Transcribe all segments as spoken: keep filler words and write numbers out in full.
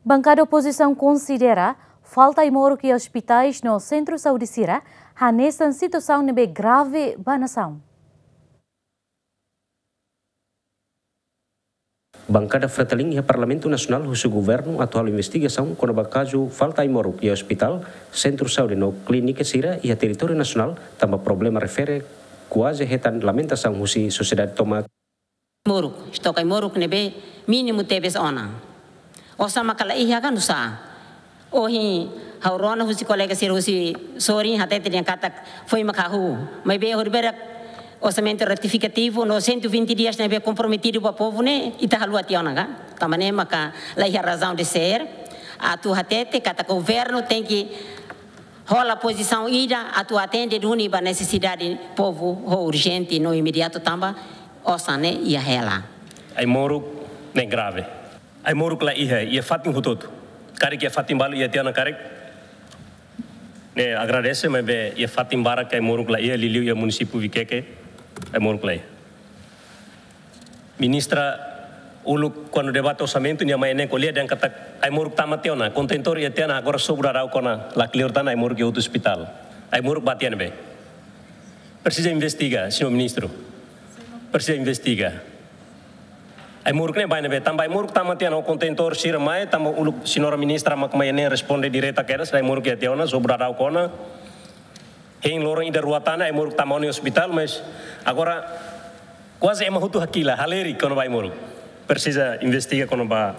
Bankada opozisaun konsidera falta ai-moruk iha ospitais no sentru saúde sira hanesan situasaun ne'ebé grave ba nasaun. Bankada Fretilin iha Parlamentu Nasionál husu governu atu halo investigasaun kona-ba kazu falta ai-moruk iha ospitál, sentru saúde no klínika sira iha territóriu nasionál, tanba problema refere kuaze hetan lamentasaun husi sosiedade tomak. Moruk, estok ai-moruk ne'ebé mínimu tebes ona. Osan maka la iha ka nusá? Ohin ha'u rona husi kolega sira husi sorin hatete dehan katak foin maka hahú. Maibé horibainrua orsamentu retifikativu no cento e vinte dias ne'ebé komprometidu ba povu ne'e ita haluha tiha ona ka? Tanba ne'e maka la iha razaun de ser atu hatete katak governu tenke hola pozisaun ida atu atende duni ba nesesidade povu ho urjente no imediatu tanba osan ne'e iha hela. Ai-moruk ne'e grave. Ai-moruk la iha, iha fatin hotu-hotu. Karik iha fatin balu iha tiha ona karik. Ne'e agradese maibé iha fatin barak ai-moruk la iha, liuliu iha munisípiu Viqueque ai-moruk la iha. Ministra uluk kuandu debate orsamentu nia mai ne'e ko'alia dehan katak ai-moruk tama tiha ona, kontentór iha tiha ona, agora sobra daudauk ona, la kleur tan ai-moruk iha outro ospitál. Ai-moruk ba tiha ne'ebé? Presiza investiga, señór ministru. Presiza investiga. Ai-moruk ne'e ba ne'ebé? Tanba ai-moruk tama tiha ona, kontentór sira mai, tanba uluk señora ministra mak mai ne'e responde direta kedas, ai-moruk iha tiha ona, sobra daudauk ona. Hein loron ida rua tan ai-moruk tama ona iha ospitál, mas agora kuaze ema hotu hakilar, halerik kona-ba ai-moruk. Presiza investiga kona-ba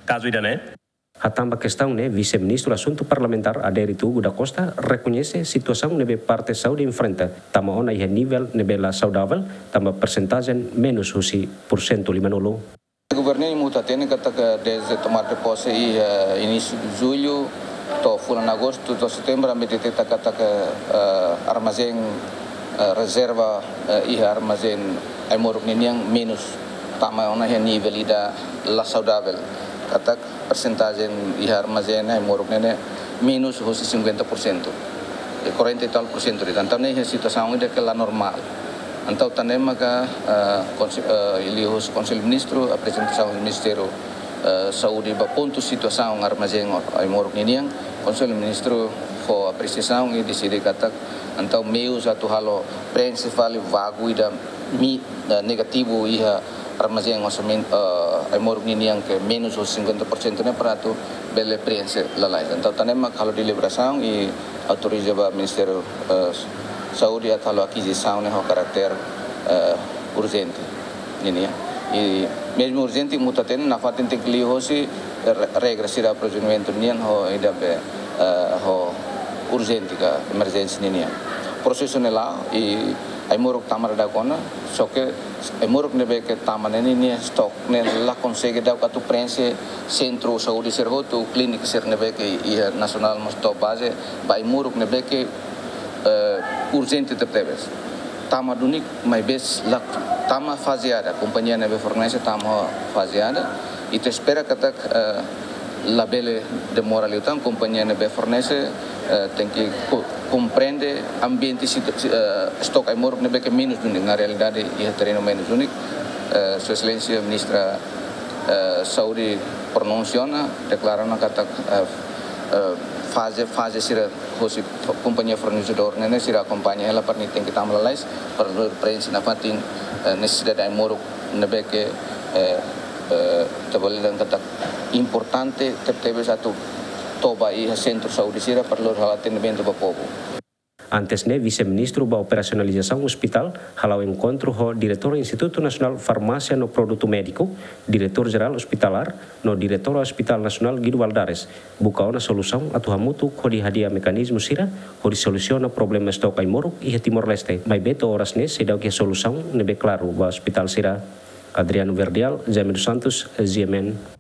kazu ida-ne'e. Hatán ba kestaun ne'e, Vise-Ministru Asuntu Parlamentár, Adérito Hugo da Costa, rekoñese situasaun ne'ebé parte saúde enfrenta, tama ona iha nivel ne'ebé la saudavel, tanba persentajen menus husi porsentu limanulu. Governu nia muta hatene katak dezde tomada de pose iha inísiu de jullu to'o fulan agostu to'o setembru, ami deteta katak, eh, armazén, eh, rezerva, eh, iha armazén ai-moruk ninian menus, tama ona iha nivel ida la saudavel. Katak persentajen iha armazén ai-moruk ne'e menus hosi cinquenta por cento. E quarenta e tal por cento de'it. Entaun ne'e iha situasaun ida ke la normál. Entaun tan ne'e maka, eh, konse-, eh, liuhusi Konsellu Ministru, aprezentasaun Ministériu, eh, Saúde ba pontu situasaun armazén ai-moruk ninian, Konsellu Ministru fó apresiasaun i deside katak entaun meius atu halo preenxe fali vagu ida mi, eh, negativu iha armazén orsamentu, eh, ai-moruk ninian ke menus hosi cinquenta por cento ne'e para atu bele preenxe lalais. Entaun tan ne'e mak halo deliberasaun i autoriza ba Ministériu, eh, Saúde atu halo akizisaun ne'e ho karáter, eh, urjente ninian. I mezmu urjente muta hatene nafatin tenke liuhosi re-, regra sira aprovisionamentu nian ho ida be, eh, ho urjente ka emerjénsia ninian. Prosesu ne'e la'o i ai-moruk tama daudauk ona, só ke ai-moruk ne'ebé ke tama ne'e ninia estok ne'e la konsege daudauk atu preenxe sentru saúde sira hotu, klínika sira ne'ebé ke iha nasionál mós to'o baze, ba ai-moruk ne'ebé ke, eh, urjente tebetebes. Tama duni maibé la tama fazeada, kompañia ne'ebé fornese tama fazeada, i ita espera katak, eh, labele demora liután, kompañia ne'ebé fornese, eh, tenke ko-, komprende ambiente situ-, si-, eh, estok ai-moruk ne'ebé ke menus duni, na realidade iha terrenu menus duni. Eh, Sua Exelénsia Ministra, eh, Saúde pronunsia ona, deklara ona katak, eh, eh, faze, faze sira hosi f-, kompañia fornesedór ne'e, ne'e sira akompaña hela para nia tenke tama lalais, para preenxe nafatin, eh, nesesidade ai-moruk ne'ebé ke, eh, eh, ita bele dehan katak importante tebetebes atu toba iha sentru saúde sira para halo atendimentu ba povu. Antes ne'e, Vise-Ministru ba Operasionalizasaun Ospitál hala'o enkontru ho Diretór Institutu Nasionál Farmásia no Produtu Médiku, Diretór Jerál Ospitalár, no Diretór Ospitál Nasionál Guido Valadares, buka ona solusaun atu hamutuk hodi hadi'a mekanizmu sira hodi solusiona problema estok ai-moruk iha Timor-Leste. Maibé to'o oras ne'e seidauk iha solusaun ne'ebé klaru ba ospitál sira. Adriano Verdial, Jaime dos Santos, G M N.